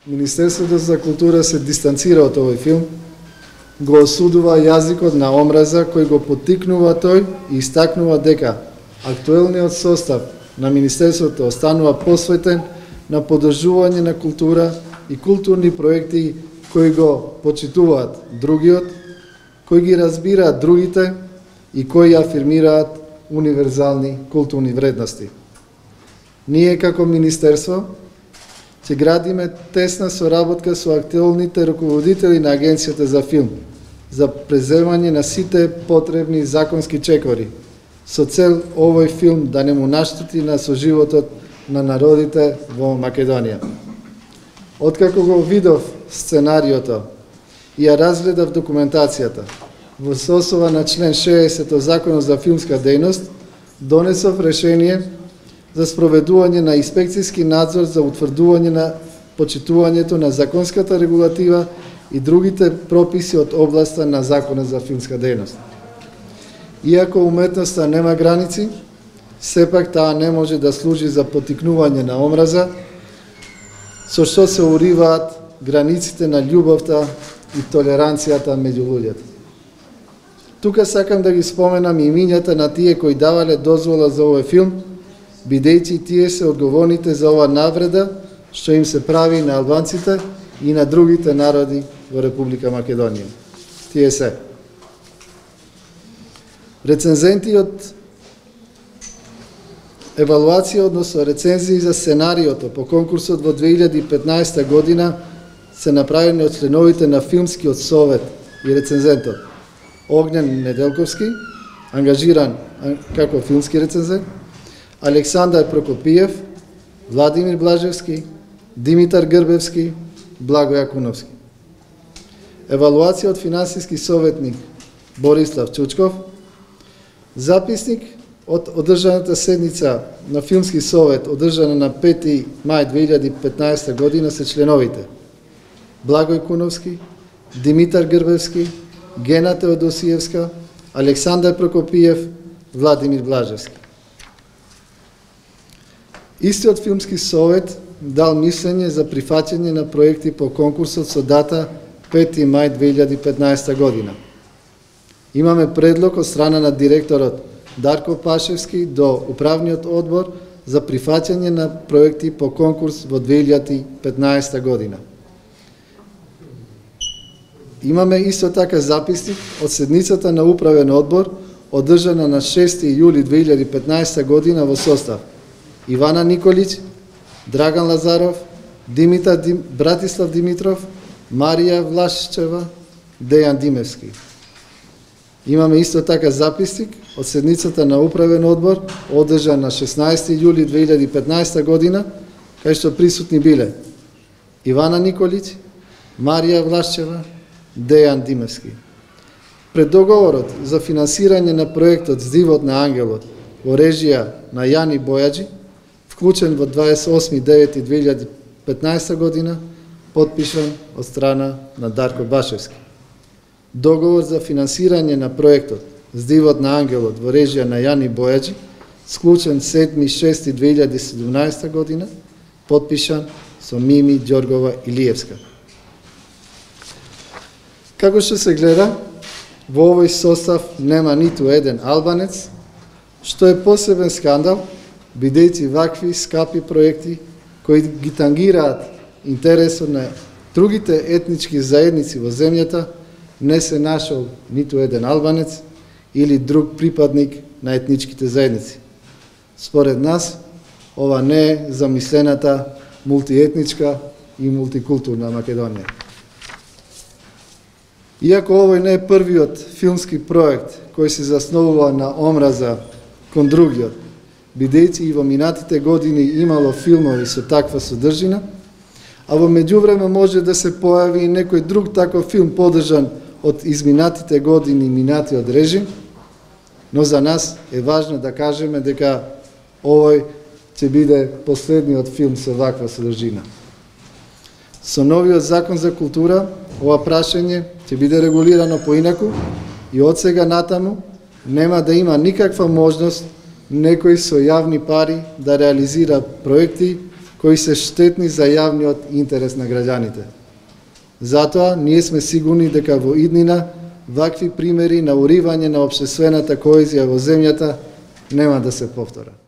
Министерството за култура се дистанцира од овој филм, го осудува јазикот на омраза кој го поттикнува тој и истакнува дека актуелниот состав на Министерството останува посветен на поддржување на култура и културни проекти кои го почитуваат другиот, кои ги разбираат другите и кои афирмираат универзални културни вредности. Ние како Министерство ќе градиме тесна соработка со актуелните руководители на Агенцијата за филм за преземање на сите потребни законски чекори со цел овој филм да не му наштети на соживотот на народите во Македонија. Откако го видов сценариото и ја разгледав документацијата, во соосова на член 60 од Законот за филмска дејност, донесов решение за спроведување на инспекцијски надзор за утврдување на почитувањето на законската регулатива и другите прописи од областа на Законот за филмска дејност. Иако уметноста нема граници, сепак таа не може да служи за поттикнување на омраза, со што се уриваат границите на љубовта и толеранцијата меѓу луѓето. Тука сакам да ги споменам имињата на тие кои давале дозвола за овој филм, бидејќи тие се одговорните за ова навреда што им се прави на албанците и на другите народи во Република Македонија. Тие се рецензенти од евалуација, односно рецензии за сценариото по конкурсот во 2015 година се направени од членовите на Филмскиот совет и рецензентот Огнен Неделковски, ангажиран како филмски рецензент, Александар Прокопиев, Владимир Блажевски, Димитар Грбевски, Благо Јакуновски. Евалуација од финансиски советник Борислав Чучков, записник од одржаната седница на Филмски совет, одржана на 5. мај 2015 година, се членовите Благо Јакуновски, Димитар Грбевски, Гена Теодосиевска, Александар Прокопиев, Владимир Блажевски. Истиот Филмски совет дал мислење за прифаќање на проекти по конкурсот со дата 5. мај 2015 година. Имаме предлог од страна на директорот Дарко Пашевски до управниот одбор за прифаќање на проекти по конкурс во 2015 година. Имаме исто така записник од седницата на управен одбор, одржана на 6. јули 2015 година во состав Ивана Николич, Драган Лазаров, Братислав Димитров, Марија Влашчева, Дејан Димевски. Имаме исто така записник од седницата на управен одбор, одржан на 16. јули 2015 година, кај што присутни биле Ивана Николич, Марија Влашчева, Дејан Димевски. Пред договорот за финансирање на проектот Здивот на ангелот во режија на Јани Бојаджи, вклучен во 28.9.2015 година, потпишан од страна на Дарко Башевски. Договор за финансирање на проектот Здивот на ангелот во режија на Јани Бојаджи, склучен 7.6.2017 година, потпишан со Мими Ѓоргова Илиевска. Како што се гледа, во овој состав нема ниту еден албанец, што е посебен скандал, бидејќи вакви скапи проекти кои ги тангираат интересот на другите етнички заедници во земјата, не се нашол ниту еден албанец или друг припадник на етничките заедници. Според нас, ова не е замислената мултиетничка и мултикултурна Македонија. Иако овој не е првиот филмски проект кој се засновува на омраза кон другиот, бидејќи и во минатите години имало филмови со таква содржина, а во меѓувреме може да се појави и некој друг таков филм поддржан од изминатите години минатиот режим, но за нас е важно да кажеме дека овој ќе биде последниот филм со ваква содржина. Со новиот закон за култура, ова прашање ќе биде регулирано поинаку и од сега натаму нема да има никаква можност некој со јавни пари да реализира проекти кои се штетни за јавниот интерес на граѓаните. Затоа, ние сме сигурни дека во иднина вакви примери на уривање на општествената коезија во земјата нема да се повторат.